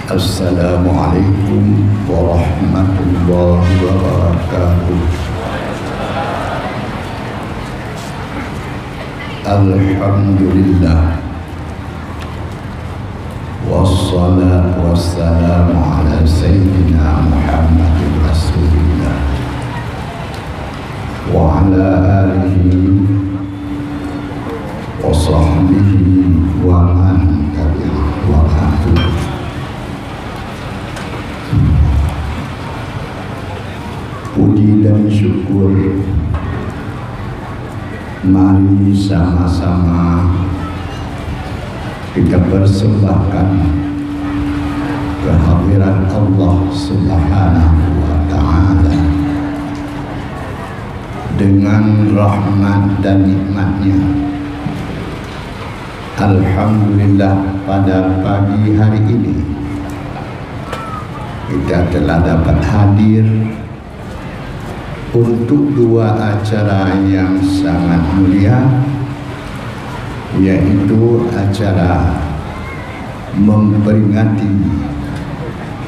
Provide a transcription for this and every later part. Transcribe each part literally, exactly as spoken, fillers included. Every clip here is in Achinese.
Assalamualaikum warahmatullahi wabarakatuh. Alhamdulillah. Wassalatu wassalamu ala sayyidina Muhammadin Rasulillah wa ala alihi wa sahbihi wa man tabi'ah wa ba'du. Puji dan syukur mari sama-sama kita persembahkan kehadirat Allah Subhanahu wa Ta'ala dengan rahmat dan nikmatnya. Alhamdulillah, pada pagi hari ini kita telah dapat hadir untuk dua acara yang sangat mulia, yaitu acara memperingati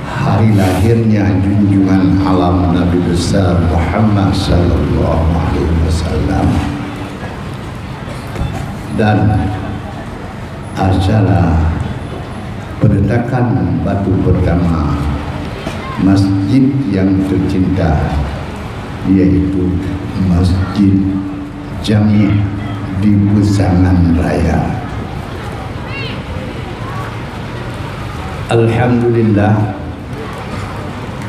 hari lahirnya junjungan alam Nabi besar Muhammad sallallahu alaihi wasallam dan acara peletakan batu pertama masjid yang tercinta, yaitu Masjid Jami di Peusangan Raya. Alhamdulillah,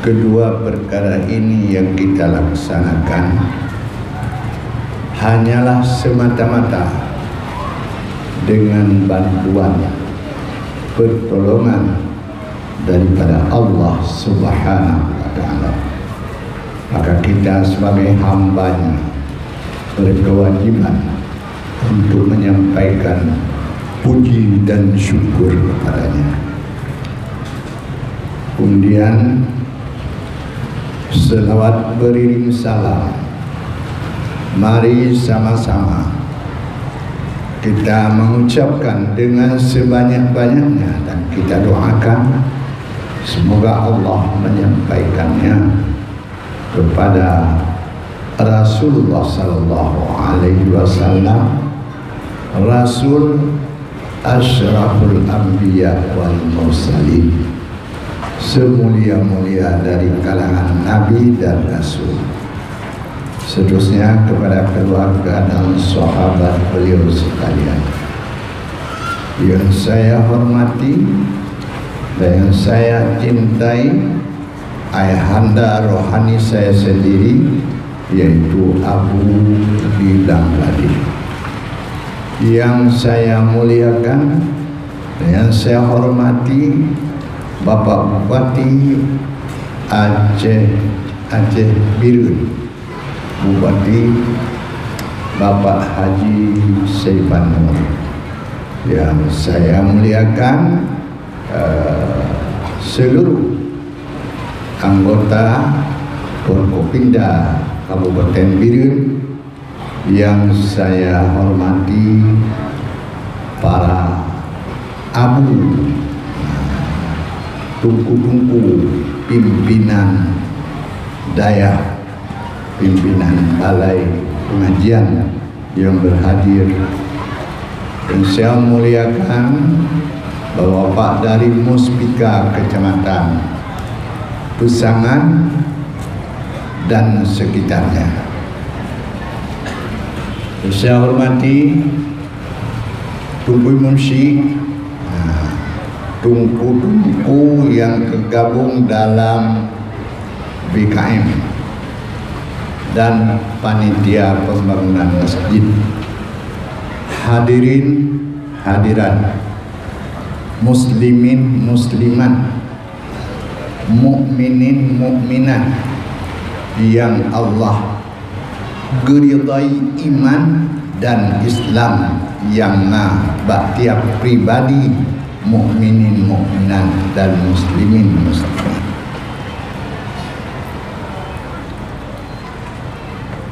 kedua perkara ini yang kita laksanakan hanyalah semata-mata dengan bantuan, pertolongan daripada Allah Subhanahu wa Ta'ala. Maka kita sebagai hamba-Nya berkewajiban untuk menyampaikan puji dan syukur kepada-Nya. Kemudian, selawat beriring salam, mari sama-sama kita mengucapkan dengan sebanyak-banyaknya dan kita doakan semoga Allah menyampaikannya kepada Rasulullah sallallahu alaihi wasallam, Rasul asyraful anbiya wal mursalin, semulia-mulia dari kalangan nabi dan rasul. Seterusnya kepada keluarga dan sahabat beliau sekalian yang saya hormati dan yang saya cintai, ayahanda rohani saya sendiri, yaitu Abu di Bangladesh. Yang saya muliakan dan yang saya hormati, Bapak Bupati Aceh, Aceh Bireuen, Bupati Bapak Haji Saipan Nur. Yang saya muliakan, eh, seluruh anggota Forkopimda Kabupaten Bireuen, yang saya hormati para abu, tungku-tungku pimpinan dayah, pimpinan balai pengajian yang berhadir. Dan saya muliakan Bapak-bapak dari Muspika Kecamatan Peusangan dan sekitarnya. Saya hormati Teungku Imum Syik, nah, teungku-teungku yang tergabung dalam B K M dan panitia pembangunan masjid. Hadirin hadirat, muslimin muslimat, mukminin mukminat yang Allah geuridai iman dan Islam nyang na bak tiab pribadi mukminin mukminat dan muslimin muslimat.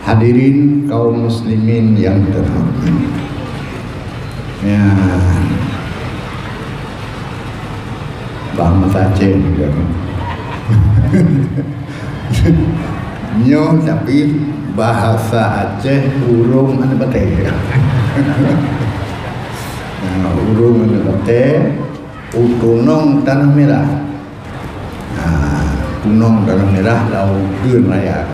Hadirin kaum muslimin yang terhormat. Ya. Bahasa Aceh juga. Nyoe tapi bahasa Aceh ureuëng aneuk batée. Nah, ureuëng aneuk batée, u tunong Tanah Merah. Nah, tunong Tanah Merah lau Geun Raya.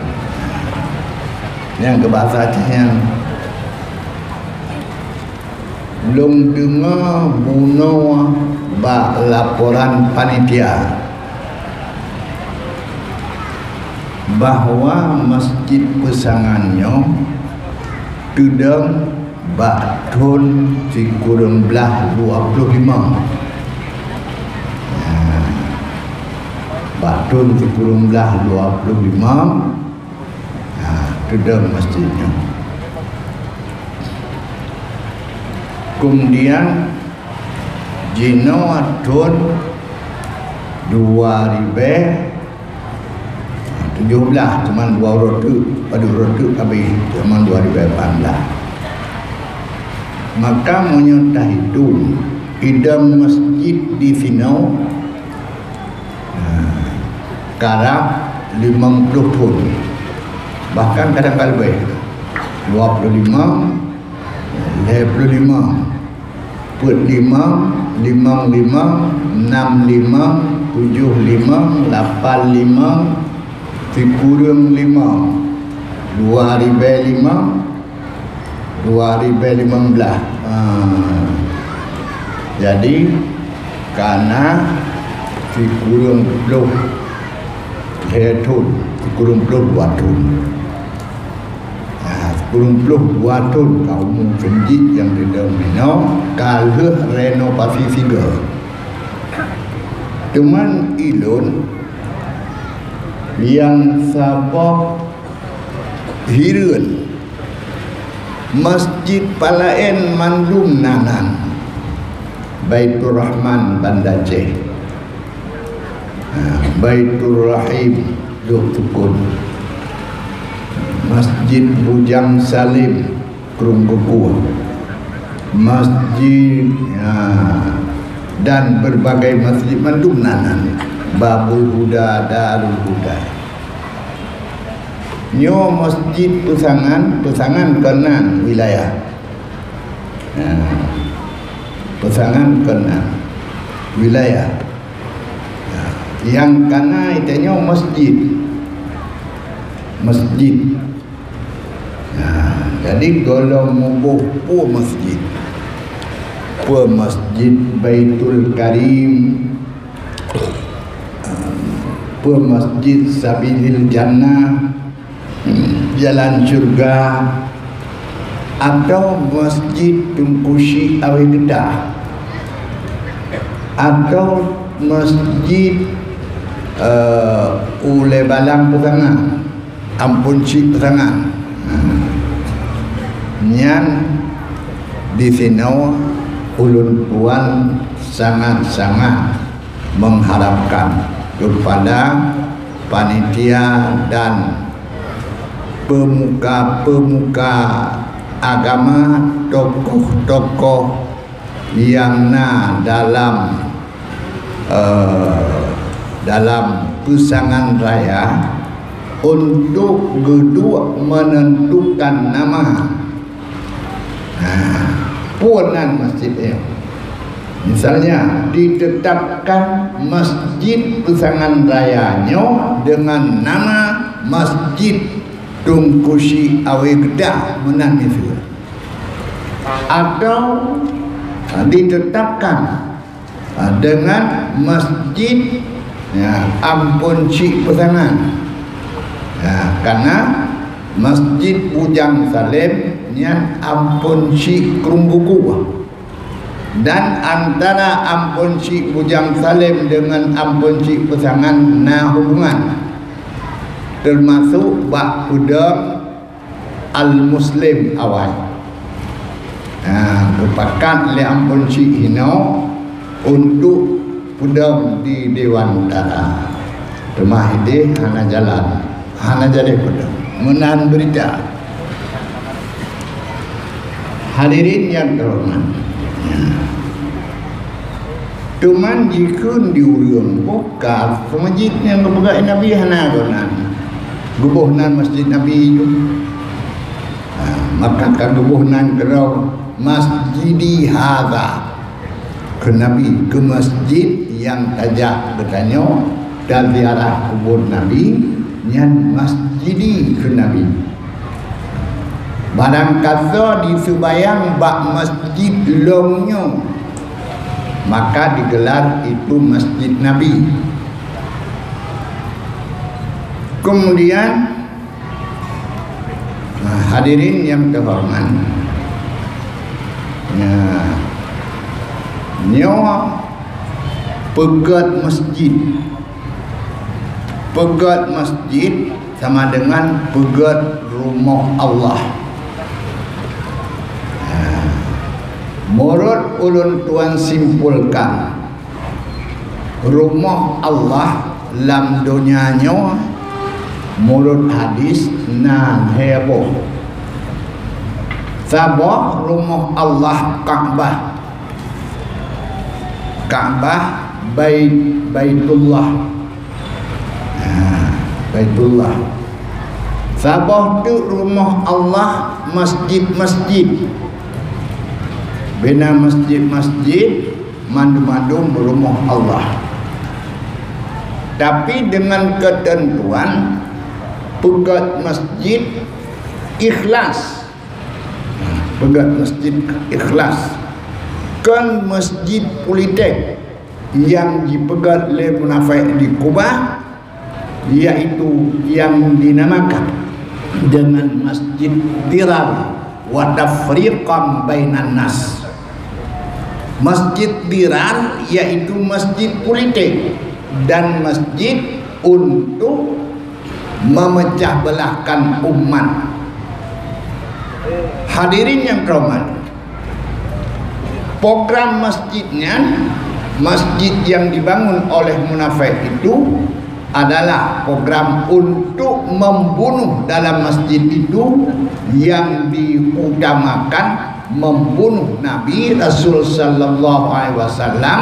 Nyang keu bahasa Aceh nyan. Lôn deungoe bunoe bak laporan panitia bahwa Masjid Peusangan nyoe teudong bak thon sikureueng blaih dua ploh limong. Nah, bak thon sikureueng blaih dua ploh limong, nah, teudong masjid nyoe. Kemudian jinoe thon dua ribèe tujoh blaih, cuman dua uroe teuk, padub uroe teuk habéh, cuman dua ribèe lapan blaih. Maka meunyoe tahitong idong masjid di sinoe, nah, karab limong ploh thon, bahkan kadang ka leubeh, dua ploh limong, lhèe ploh limong, peuet limong, limong limong, nam limong, tujoh limong, lapan limong, sikureueng limong, dua ribèe limong, dua ribèe limong blaih. Ha. Jadi, kana sikureueng ploh lhèe thon, sikureueng ploh dua thon. Ha, sikureueng ploh dua thon ka umu masjid nyang teudong meunoe, ka lheueh renovasi sigoe. Teuma ulôn nyang saboh hireuen, masjid palaén mandum na nan. Baiturrahman Banda Aceh, ha, Baiturrahim Lhoksukon, Masjid Bujang Salim Krueng Gukue, masjid, ha, dan berbagai masjid mandum na nan. Babul Huda, Darul Huda. Nyoe Masjid Peusangan, Peusangan keunan wilayah. Nah, Peusangan keunan wilayah. Nah, nyang kana tanyoe masjid. Masjid. Nah, jadi gohlom muboh peue masjid. Peue Masjid Baitul Karim, peue Masjid Sabilil Jannah, Jalan Syurga, atau Masjid Teungku Chik Awé Geuda, atau masjid, eh, Ulèe Balang Peusangan, Ampôn Chik Peusangan. Nyan disinoe ulôn tuan sangat-sangat mengharapkan kepada panitia dan pemuka-pemuka agama, tokoh-tokoh nyang na dalam, eh, dalam Peusangan Raya untuk geuduek menentukan nama. Nah, peue nan masjid nyoe? Misalnya, ditetapkan Masjid Peusangan Raya nyoe dengan nama Masjid Teungku Chik Awé Geuda, meunan miseue. Atau, ha, ditetapkan, ha, dengan Masjid, ya, Ampôn Chik Peusangan. Ya, karena Masjid Bujang Salim nyan Ampôn Chik Krueng Gukue. Dan antara Ampôn Chik Bujang Salim dengan Ampôn Chik Peusangan na hubungan, termasuk bak peudong Al-Muslim awai. Nah, geupakat lé Ampôn Chik hinoe untuk peudong di Dewan Utara. Teuma idéh hana jalan, hana jadi peudong. Meunan beurita. Hadirin nyang teuhoreumat. Nah. Teuma jikheun di ureuëng, boh ka meuseujid nyang geupeugah Nabi hana geunan. Geuboh nan meuseujid Nabi ju. Ha, maka ka geuboh nan keudroe, "Masjidi hadza." Keu Nabi, keu meuseujid nyang tajak geutanyoe taziarah kubur Nabi, nyan masjidi keu Nabi. Barangkasoe diseubayang bak meuseujid lom nyoe, maka digelar itu Masjid Nabi. Kemudian, nah, hadirin yang terhormat, nah, nyoe peugét meuseujid. Peugét meuseujid sama dengan peugét rumoh Allah. Nah, meunurot ulôn tuan simpulkan, rumoh Allah lam donya nyoe meunurot hadis na lhée boh. Saboh rumoh Allah Ka'bah. Ka'bah, Bait-, Baitullah. Ha, Baitullah. Saboh teuk rumoh Allah, masjid-masjid. Bina masjid-masjid, mandum-mandum rumoh Allah. Tapi dengan ketentuan, peugét meuseujid ikhlas. Peugét meuseujid ikhlas. Kon meuseujid pulitek nyang jipeugét lé munafék di Kuba, yaitu nyang dinamakan dengan Masjid Dirar wa Tafriqan Bainan Nas. Masjid Dirar yaitu masjid pulitek dan masjid untuk memecah belahkan umat. Hadirin yang terhormat, program masjid nyan, masjid yang dibangun oleh munafék itu adalah program untuk membunuh dalam masjid itu, yang diutamakan membunuh Nabi Rasul sallallahu alaihi wasallam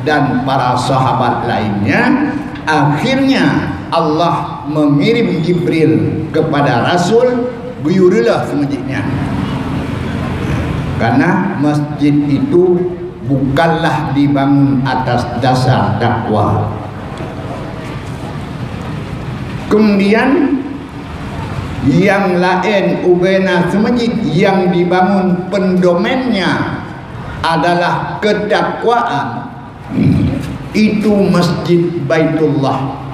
dan para sahabat lainnya. Akhirnya Allah mengirim Jibril kepada Rasul, geuyue reuloh seumeujid nyan. Karena masjid itu bukanlah dibangun atas dasar takwa. Kemudian, nyang laén ubena seumeujid nyang dibangun pendomennya adalah ketakwaan, itu Masjid Baitullah.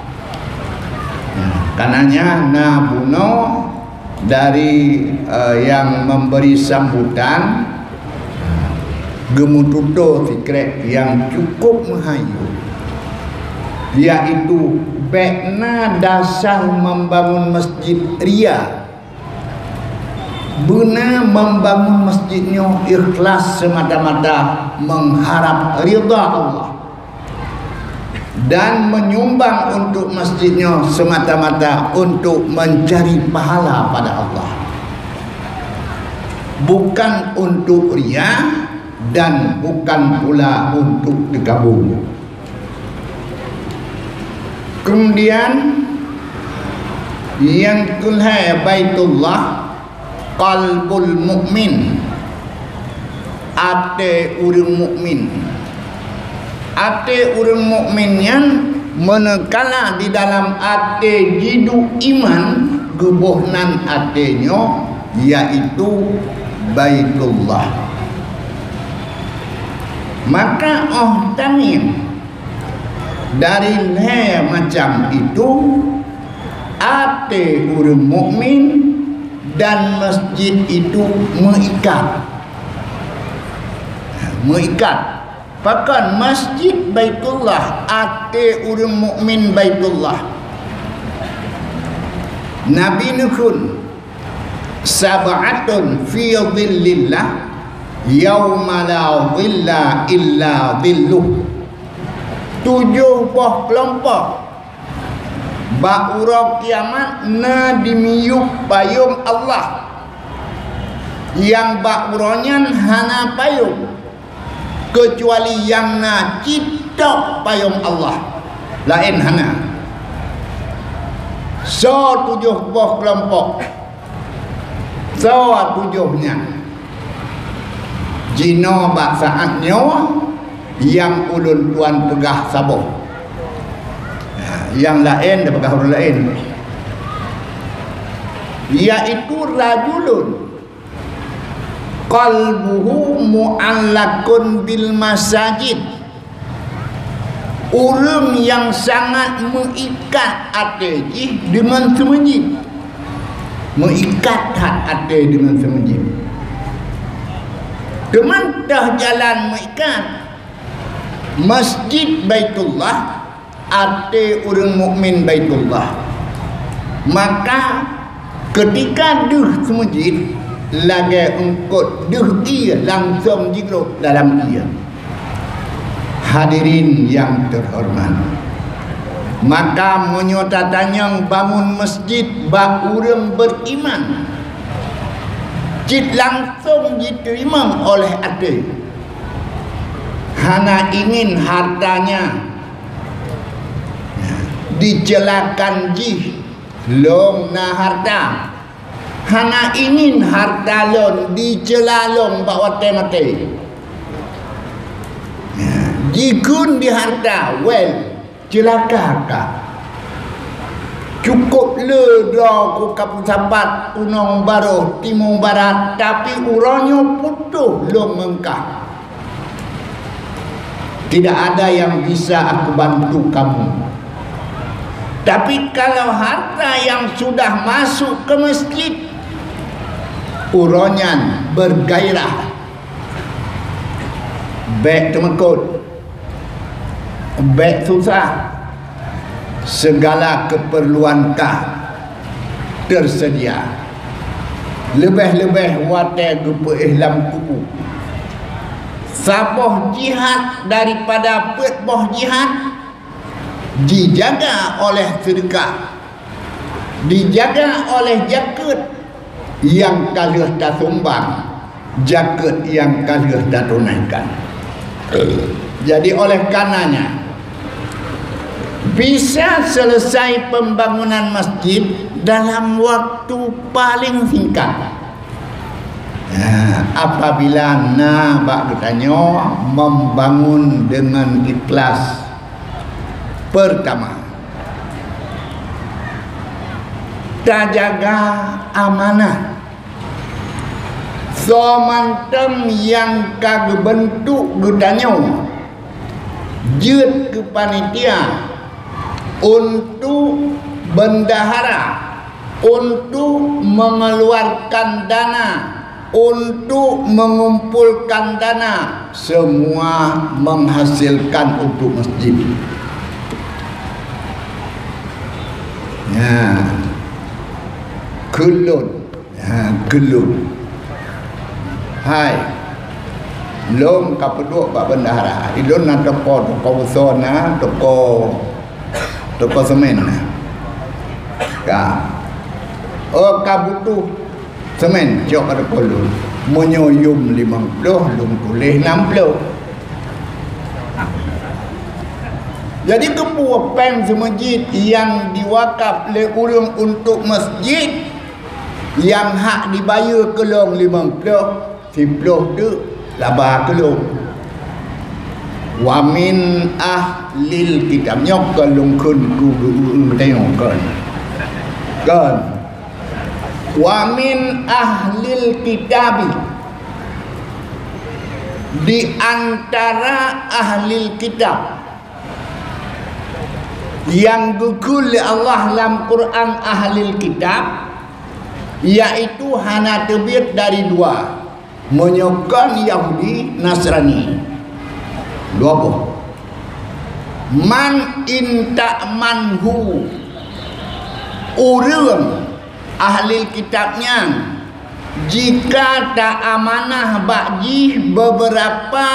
Karenanya na bunoe dari, eh, yang memberi sambutan geumeututoe sikrek nyang cukup meuhayu, yaitu bék na dasar membangun masjid ria. Beuna membangun masjid nyoe ikhlas semata-mata mengharap ridha Allah dan menyumbang untuk masjid nyoe semata-mata untuk mencari pahala pada Allah, bukan untuk ria dan bukan pula untuk digabung. Kemudian, nyang keulhée Baitullah, qalbul mukmin, até ureuëng mukmin. Até ureuëng mukmin nyan, manakala di dalam até jiduek iman, geuboh nan até nyoe, yaitu Baitullah. Maka óh tangieng dari lhée macam itu, até ureuëng mukmin dan masjid itu meuikat. Meuikat. Pakon Masjid Baitullah, até ureuëng mukmin Baitullah? Nabi neukheun, "Sab'atun fi dhillillah, yauma la dhilla illa dhilluh." Tujoh boh keulompok bak uroe kiamat na dimiyueb payong Allah, nyang bak uroe nyan hana payong, keucuali nyang na cit tok payông Allah. Laén hana. Soe tujoh boh keulompok? Soe tujoh nyan? Jinoe bak saát nyoe nyang ulôn tuan peugah saboh. Nah, nyang laén tapeugah ureuëng laén. Yaitu rajulun qalbuhu mu'allaqun bil masajid. Ureuëng nyang sangat meuikat até jih deungon seumeujid. Meuikat that até deungon seumeujid. Keumantöh jalan meuikat, Masjid Baitullah, até ureuëng mukmin Baitullah. Maka, keutika deuh seumeujid, lagée eungkôt deuh ié langsong jigrob dalam ié. Hadirin nyang teuhoreumat, maka meunyoe tatanyong bangun masjid bak ureuëng beriman, cit langsong jiteurimong oleh até. Hana ingin hartanya diceulakan jih, lôn na harta. Hana ingin harta lôn diceula lôn bak watée maté. Jikheun di harta, well, ceulaka ka. Cukôp le droe ku ka peusapat tunong baroh timu barat, tapi uroe nyoe putôh lôn ngon kah. Tidak ada yang bisa aku bantu kamu. Tapi kalau harta yang sudah masuk ke masjid, uroe nyan bergairah, bék teumeukot, bék susah, segala keperluan kah tersedia. Leubeh-leubeh watée geupeuéh lam kubu. Saboh jihad daripada peuet boh jihad jijaga oleh seudeukah, dijaga oleh jakeuet nyang ka lheueh tasumbang, jakeuet nyang ka lheueh tatunaikan. Jadi, oleh karenanya, bisa selesai pembangunan masjid dalam waktu paling singkat. Nah, apabila na bak geutanyoe membangun dengan ikhlas, pertama, tajaga amanah. Soe mantong nyang ka geubeuntuk geutanyoe jeuet keu panitia untuk bendahara, untuk mengeluarkan dana, untuk mengumpulkan dana, semua menghasilkan untuk masjid. Ya, keu lôn. Ha, keu lôn. Hai, lôn ka peuduek bak bendahara. Ilôn na toko, toko uso na, toko, toko semen na. Ka. Oh, ka butuh semen, cok ka toko lôn. Meunyoe yum limong ploh, lôn tuléh nam ploh. Jadi, keupeue péng seumeujid nyang diwakaf lé ureuëng untuk masjid, nyang hak dibayeue keu lôn limong ploh, siploh teuk laba keu lôn. Wa min ahlil kitab, nyoe kon lôn kheun keu geu-, geu-, geutanyoe, kon. Kon. Wa min ahlil kitabi, di antara ahlil kitab. Nyang geukheun lé Allah lam Quran ahlil kitab, yaitu hana teubiet dari dua, meunyoe kon Yahudi, Nasrani. Dua boh. Man in ta'manhu, ureuëng ahlil kitab nyan, jika ta amanah bak jih beberapa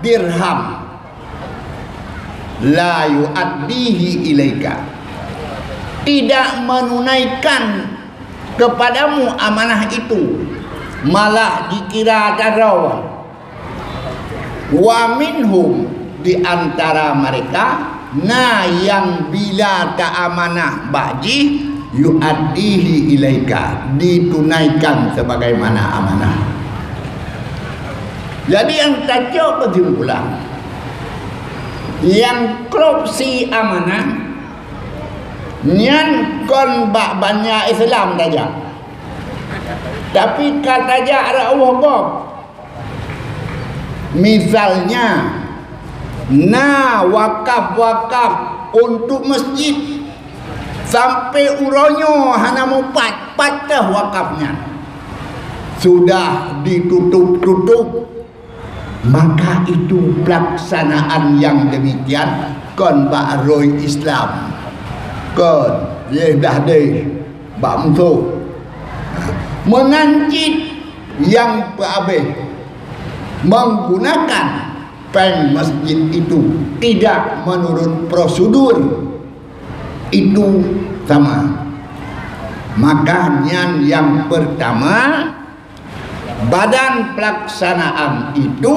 dirham, la yu'addihi ilaika, tidak menunaikan kepadamu amanah itu, malah jikira tadroe. Wa minhum, di antara mereka na nyang bila taamanah bak jih, yu'addihi ilaika, ditunaikan sebagaimana amanah. Jadi nyang tacok keusimpulan, nyang korupsi amanah nyan kon bak bansa Islam tajak, tapi ka tajak rot gob. Misalnya, na wakaf-wakaf untuk masjid, sampai uroe nyoe hana mupat, patéh wakaf nyan. Sudah ditutup-tutup, maka itu pelaksanaan yang demikian kon bak rot Islam. Kon, yeh dah deh, bak musoh. Meunan cit nyang peuabéh menggunakan péng masjid itu tidak menurut prosedur, itu sama. Maka nyan nyang pertama, badan pelaksanaan itu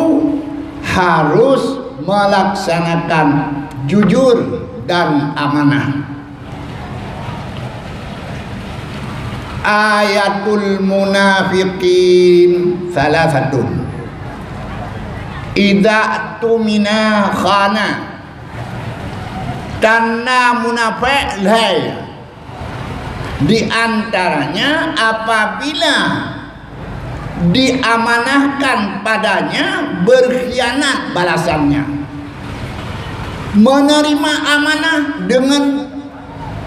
harus melaksanakan jujur dan amanah. Ayatul munafiqin salasatun. Idza tumina khana. Tanda munafék lhée. Di antaranya apabila diamanahkan padanya berkhianat balasannya. Menerima amanah dengan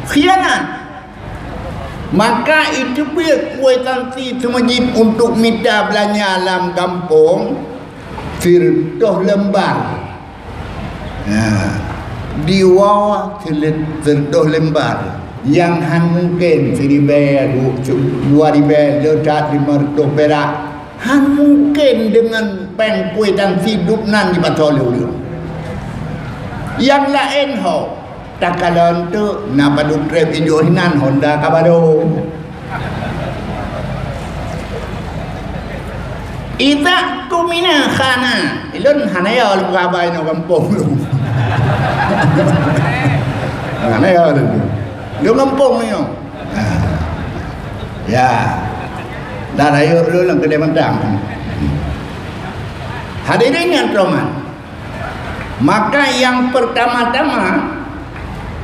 khianat. Maka itu pih kuitansi seumajid untuk mita beulanja lam gampông, sireutoh lembar. Ha, diwoe seulet-, sireutoh lembar. Nyang han mungken siribée, du-, dua ribée, le that limong reutôh pirak. Han mungken deungon péng kuitansi dub nan jipasoe lé ureuëng. Nyang laén ho, takalon teuk na padub treb ijoh hinan Honda ka baro. Idza tumina khana. Ilôn hana yo lôn peugah haba inoe gampông lôn. Hana yo lôn. Lôn gampông nyoe. Ya. Dan ayo lôn lam keudè mantang. Hadirin yang terhormat. Maka yang pertama-tama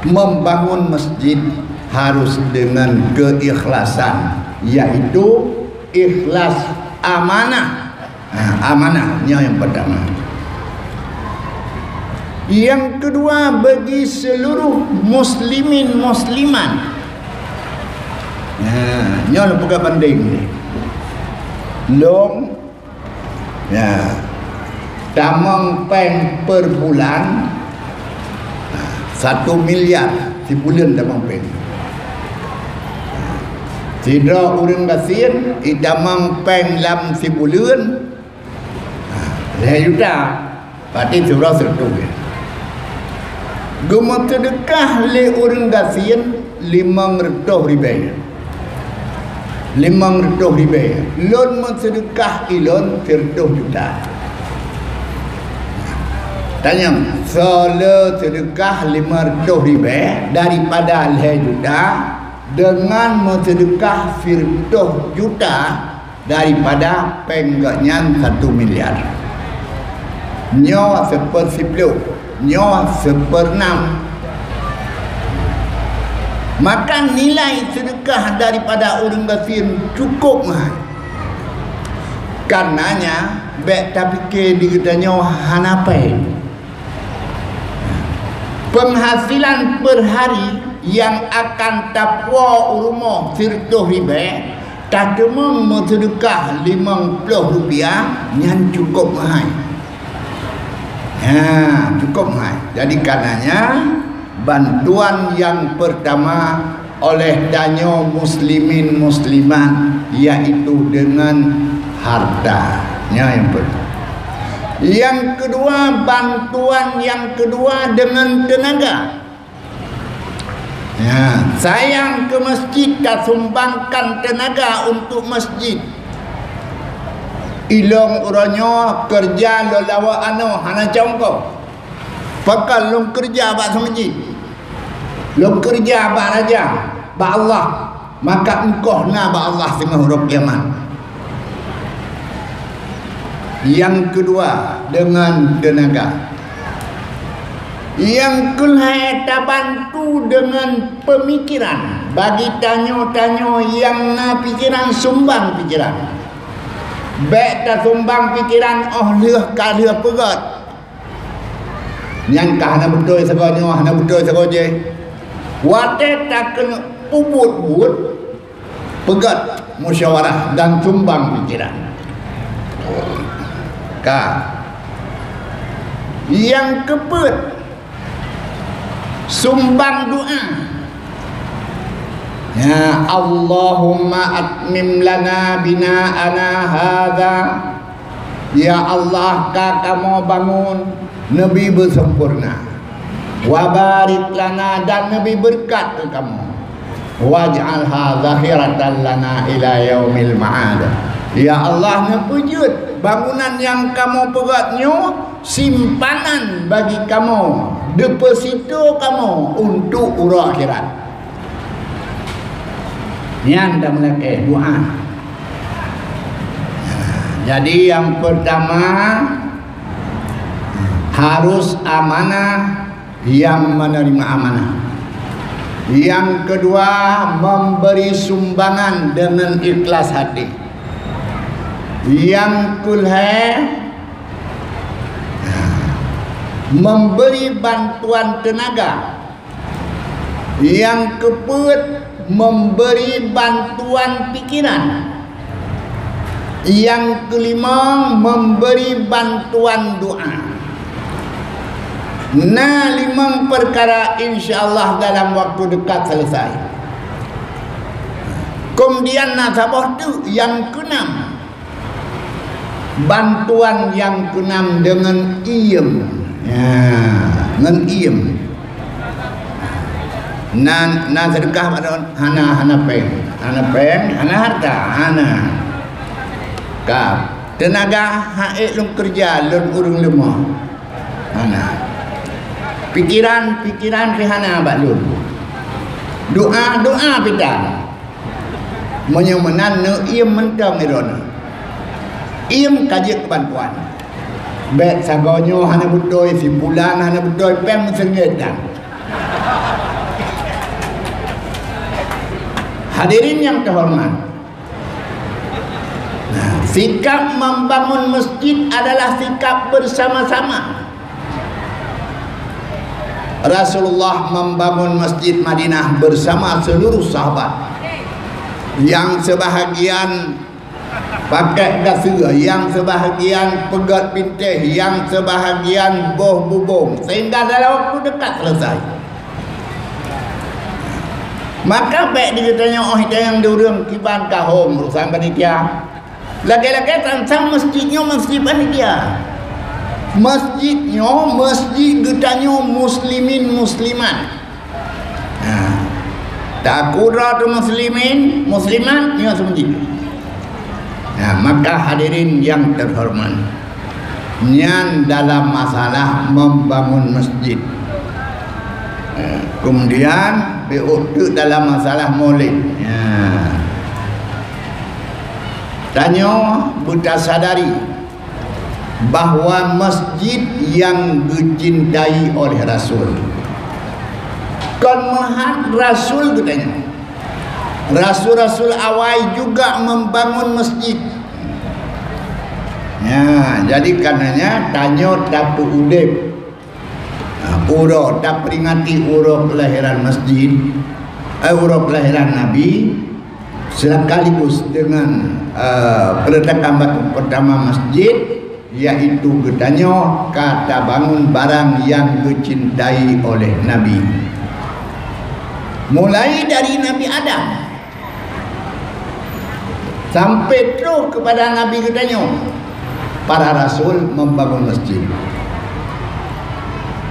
membangun masjid harus dengan keikhlasan, yaitu ikhlas amanah. Ha, amanah nyoe yang pertama. Yang kedua bagi seluruh muslimin muslimat. Ha, nyoe peugah banding. Lôn Ya. Tamong péng per bulan, satu miliar sibuleuen tamong péng. Sidroe ureuëng gasien itamong péng lam sibuleuen lhée juta, berarti sidroe seureutôh. Geumeuseudeukah lé ureuëng gasien limong reutôh ribée. Limong reutôh ribée. Lôn meuseudeukah ilôn seureutôh juta. Tanyong, soe le seudeukah limong reutôh ribée daripada lhée juta deungon meuseudeukah seureutôh juta daripada péng gobnyan satu miliar. Nyoe seupeusiploh, nyoe seupeunam. Maka nilai seudeukah daripada ureuëng gasien cukup meuhai. Karenanya, bék tapike di geutanyoe hana péng. Penghasilan per hari nyang akan tapuwoe u rumoh sireutoh ribée, tateumong meuseudeukah limong ploh rupiah, nyan cukup meuhai. Ha, cukup meuhai. Jadi, karenanya, bantuan nyang pertama oleh tanyoe muslimin muslimat, yaitu deungon harta. Nyan nyang pertama. Nyang keudua, bantuan nyang keudua deungon teunaga. Ya, sayang keu masjid, tasumbangkan teunaga untuk masjid. Ilôn uroe nyoe keureuja lôn lawok anoe hana congko. Pakon lôn keureuja bak seumeujid, lôn keureuja bak raja, bak Allah, maka eungkôt na bak Allah singoh uroe kiamat. Nyang keudua, deungon teunaga. Nyang keulhèe, tabantu deungon peumikiran. Bagi tanyoe-tanyoe nyang na pikiran, sumbang pikiran. Bèk tasumbang pikiran óh lheueh ka lheueh peugöt. Nyan ka hana beutôi sagoe nyoe, hana beutôi sagoe jéh. Watèe takeuneuk peubuet buet, peugöt musyawarah dan sumbang pikiran. Ka. Nyang keupeuet, sumbang doa. Ya Allahumma atmim lana bina'ana hadza. Ya Allah, ka kamoe bangun, neubi beusempurna. Wa barik lana, dan neubi beureukat keu kamoe. Waj'alha zakhiratan lana ila yaumil ma'ad. Ya Allah, neupeujeuet bangunan nyang kamoe peugöt nyoe simpanan bagi kamoe, deposito kamoe untuk uroe akhirat. Nyan tameulakèe doa. Jadi, nyang peurtama, harus amanah nyang meuneurimong amanah. Nyang keudua, memberi sumbangan deungon ikhlas hati. Nyang keulhèe, memberi bantuan teunaga. Nyang keupeuet, memberi bantuan pikiran. Nyang keulimong, memberi bantuan doa. Na limong peukara, insya Allah dalam waktu dekat selesai. Keumudian na saboh teuk nyang keunam. Bantuan nyang keunam deungon iem. Ya, ngon iem. Na, na seudeukah bak droen? Hana, hana péng. Hana péng, hana hareuta, hana. Ka, teunaga han ék lôn keureuja, lôn ureueng leumoh. Hana. Pikiran, pikiran pih hana bak lôn. Doa, doa pih tan. Meunyoe meunan, neuiem mantong droeneuh. Iem ka jeuet keu bantuan. Bèk sagoe nyoe hana beutôi, si pulan hana beutôi, péng meuseungét dan. Hadirin nyang teuhoreumat, nah, sikap membangun masjid adalah sikap bersama-sama. Rasulullah membangun Masjid Madinah bersama seluruh sahabat. Nyang sebahagian pakai gaseue, nyang sebahagian peugöt bintéh, nyang sebahagian boh bubông, sehingga dalam waktu dekat selesai. Maka bèk digeutanyoe óh itanyong di ureueng kiban ka hom urusan panitia. Lagèe-lagèe tan sang masjid nyoe masjid panitia. Masjid nyoe masjid geutanyoe muslimin muslimat. Nah, takue droe teuh muslimin muslimat nyoe seumeujitu. Nah, maka hadirin nyang teuhoreumat, nyan dalam masalah membangun masjid. Eh, kemudian, beuh teuk dalam masalah maulid. Ya. Tanyoe beutasadari bahwa masjid nyang geucintai oleh Rasul. Kon meuhat Rasul geutanyoe. Rasul-rasul awai juga membangun masjid. Ya, jadi karenanya tanyoe tapeuudép, ha, uroe taperingati uroe kelahiran masjid, eh, uroe kelahiran Nabi, sekaligus dengan, eh, peletakan batu pertama masjid, yaitu geutanyoe ka tabangun barang nyang geucintai oleh Nabi. Mulai dari Nabi Adam sampai troh kepada Nabi geutanyoe, para rasul membangun masjid.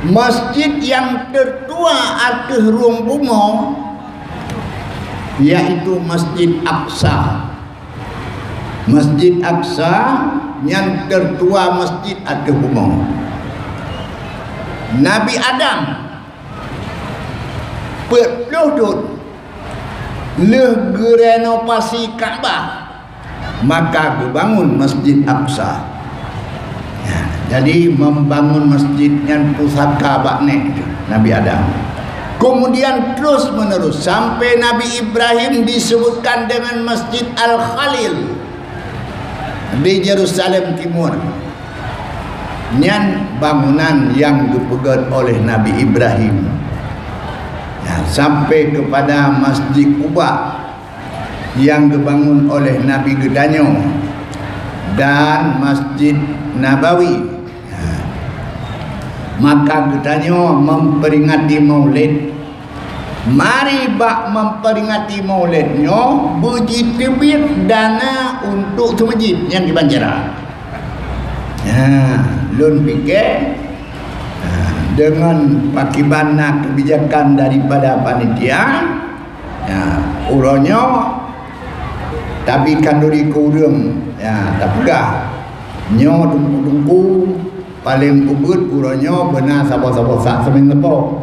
Masjid nyang teutua ateueh rhueng bumoe, yaitu Masjid Aqsa. Masjid Aqsa nyan teutua masjid ateueh bumoe. Nabi Adam peuet ploh thon lheueh geurenovasi Ka'bah, maka geubangun Masjid Aqsa. Ya, jadi membangun masjid nyan pusaka bak nèk Nabi Adam. Kemudian terus menerus sampai Nabi Ibrahim disebutkan dengan Masjid Al-Khalil di Yerusalem Timur. Nyan bangunan yang geupeugét oleh Nabi Ibrahim. Ya, sampai kepada Masjid Quba yang geubangun oleh Nabi geutanyoe dan Masjid Nabawi. Ya. Maka geutanyoe memperingati Maulid. Mari bak memperingati Maulid nyoe beujiteubiet dana untuk seumeujid nyang di Banjara. Ha, lôn pike, ha, deungon pakiban na kebijakan daripada panitia, ha, uroe nyoe tabi khanduri keu ureuëng, ha, tapeugah nyoe teungku-teungku paléng ubeuet uroe nyoe beuna saboh-saboh sak seumieng leupok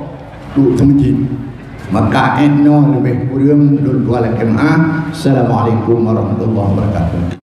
tu seumeujid. Maka ék nyoe leubeh kureueng lôn tuan lakée meu'ah. Assalamualaikum warahmatullahi wabarakatuh.